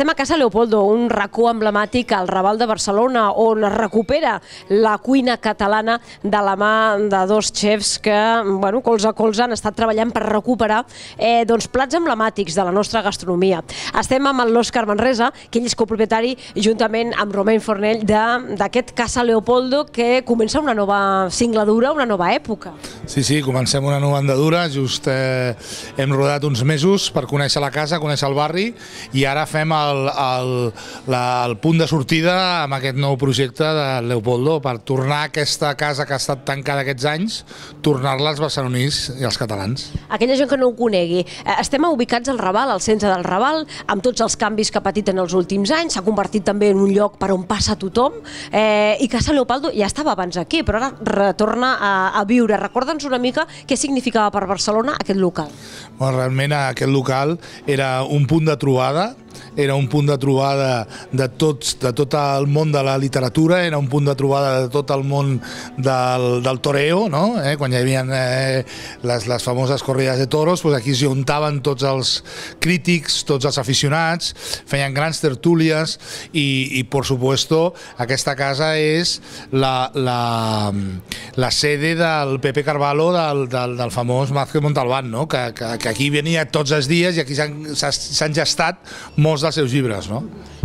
Estem a Casa Leopoldo, un racó emblemàtic al Raval de Barcelona, on es recupera la cuina catalana de la mà de dos xefs que, colze a colze, han estat treballant per recuperar plats emblemàtics de la nostra gastronomia. Estem amb l'Òscar Manresa, que ell és copropietari, juntament amb Romain Fornell, d'aquest Casa Leopoldo, que comença una nova singladura, una nova època. Sí, comencem una nova andadura. Just hem rodat uns mesos per conèixer la casa, conèixer el barri, i ara fem el punt de sortida amb aquest nou projecte de Leopoldo per tornar a aquesta casa que ha estat tancada aquests anys, tornar-la als barcelonins i als catalans. Aquella gent que no ho conegui, estem ubicats al Raval, al centre del Raval, amb tots els canvis que ha patit en els últims anys, s'ha convertit també en un lloc per on passa tothom, i Casa Leopoldo ja estava abans aquí, però ara retorna a viure. Recorda'ns una mica què significava per Barcelona aquest local. Realment aquest local era un punt de trobada, era un punt de trobada de tot el món de la literatura, era un punt de trobada de tot el món del toreo, quan hi havia les famoses corrides de toros, aquí s'hi juntaven tots els crítics, tots els aficionats, feien grans tertúlies i, por supuesto, aquesta casa és la sede del Pepe Carvalho, del famós Vázquez Montalbán, que aquí venia tots els dies i aquí s'han gestat molts dels seus llibres.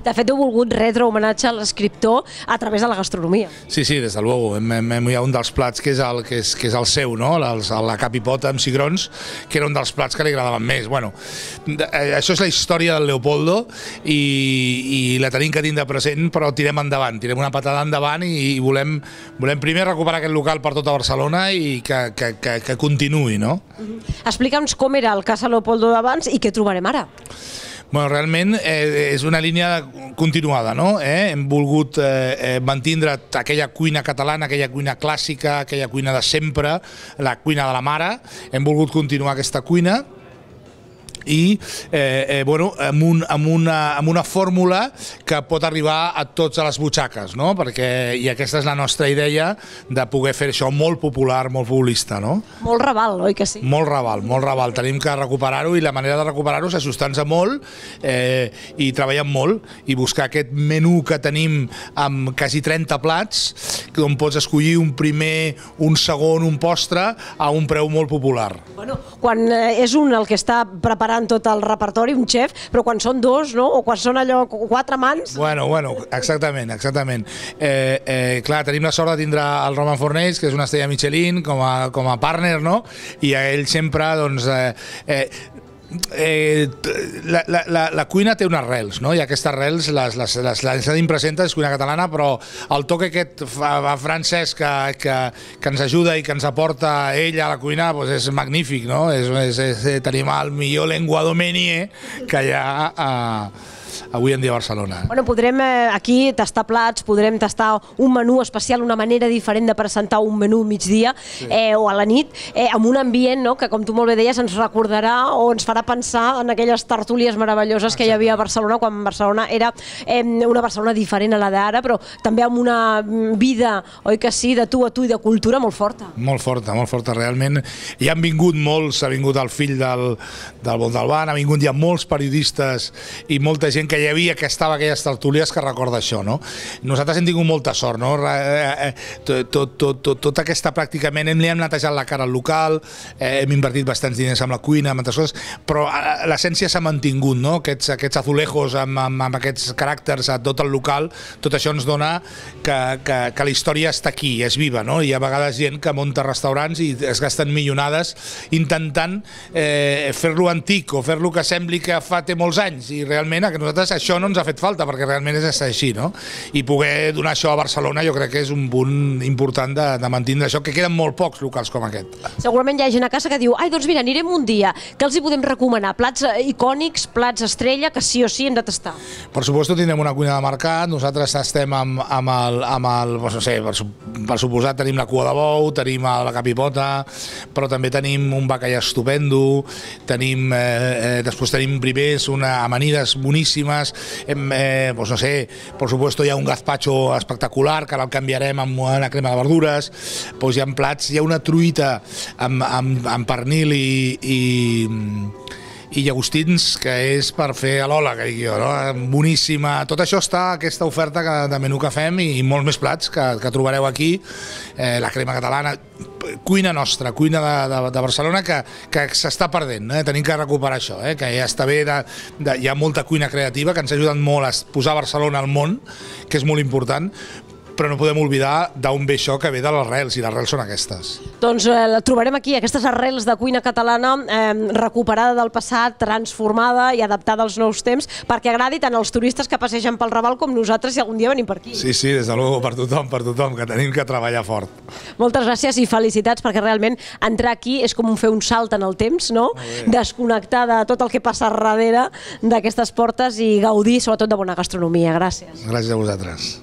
De fet, heu volgut retre homenatge a l'escriptor a través de la gastronomia. Sí, des de luego. Hi ha un dels plats que és el seu, la capipota amb cigrons, que era un dels plats que li agradaven més. Això és la història del Leopoldo i la tenim que tindre present, però tirem endavant, tirem una patada endavant i volem primer recuperar aquest local per tota Barcelona i que continuï. Explica'ns com era el Casa Leopoldo d'abans i què trobarem ara. Realment és una línia continuada. Hem volgut mantindre aquella cuina catalana, aquella cuina clàssica, aquella cuina de sempre, la cuina de la mare. Hem volgut continuar aquesta cuina i amb una fórmula que pot arribar a totes les butxaques, i aquesta és la nostra idea de poder fer això molt popular, molt populista. Molt Raval, oi que sí? Molt Raval. Tenim que recuperar-ho i la manera de recuperar-ho és ajustant-se molt i treballant molt i buscar aquest menú que tenim amb quasi 30 plats, on pots escollir un primer, un segon, un postre a un preu molt popular. Quan és un el que està preparant tot el repertori, un xef, però quan són dos, o quan són allò 4 mans... Exactament. Clar, tenim la sort de tindre el Romain Fornell, que és una estrella Michelin, com a partner, i a ell sempre, la cuina té unes arrels, i aquestes arrels les tenim presentes, és cuina catalana, però el toc aquest francès que ens ajuda i que ens aporta ell a la cuina és magnífic. Tenim el millor lenguadomenie que hi ha avui en dia a Barcelona. Podrem aquí tastar plats, podrem tastar un menú especial, una manera diferent de presentar un menú migdia o a la nit, amb un ambient que, com tu molt bé deies, ens recordarà o ens farà pensar en aquelles tertúlies meravelloses que hi havia a Barcelona, quan Barcelona era una Barcelona diferent a la d'ara, però també amb una vida, oi que sí, de tu a tu i de cultura molt forta. Molt forta, realment. Hi han vingut molts, ha vingut el fill del Montalbán, ha vingut ja molts periodistes i molta gent que hi havia, que estava a aquelles tertúlies, que recorda això. Nosaltres hem tingut molta sort. Tota aquesta, pràcticament, li hem netejat la cara al local, hem invertit bastants diners en la cuina, en altres coses, però l'essència s'ha mantingut, aquests azulejos amb aquests caràcters a tot el local, tot això ens dona que la història està aquí, és viva. Hi ha a vegades gent que munta restaurants i es gasten milionades intentant fer-lo antic o fer-lo que sembli que té molts anys, i realment a nosaltres això no ens ha fet falta, perquè realment és així, i poder donar això a Barcelona jo crec que és un punt important de mantenir això, que queden molt pocs locals com aquest. Segurament hi ha gent a casa que diu, doncs mira, anirem un dia, que els hi podem recomanar plats icònics, plats estrella, que sí o sí hem de tastar. Per suposo tindrem una cuina de mercat, nosaltres estem amb el, no sé, per suposat tenim la cua de bou, tenim la capipota, però també tenim un bacallà estupendo, després tenim primers amanides boníssimes, no sé, por supuesto hi ha un gazpacho espectacular, que ara el canviarem amb una crema de verdures, hi ha plats, hi ha una truita amb pernil i llagostins, que és per fer a l'ola, que dic jo, no? Boníssima. Tot això està, aquesta oferta de menú que fem, i molts més plats que trobareu aquí, la crema catalana, cuina nostra, cuina de Barcelona, que s'està perdent, tenim que recuperar això, que ja està bé, hi ha molta cuina creativa que ens ha ajudat molt a posar Barcelona al món, que és molt important, però no podem oblidar d'on ve això, que ve de les arrels, i les arrels són aquestes. Doncs la trobarem aquí, aquestes arrels de cuina catalana recuperada del passat, transformada i adaptada als nous temps, perquè agradi tant als turistes que passegen pel Raval com nosaltres si algun dia venim per aquí. Sí, sí, des de luego, per tothom, que tenim que treballar fort. Moltes gràcies i felicitats, perquè realment entrar aquí és com fer un salt en el temps, no? Desconnectar de tot el que passa darrere d'aquestes portes i gaudir sobretot de bona gastronomia. Gràcies. Gràcies a vosaltres.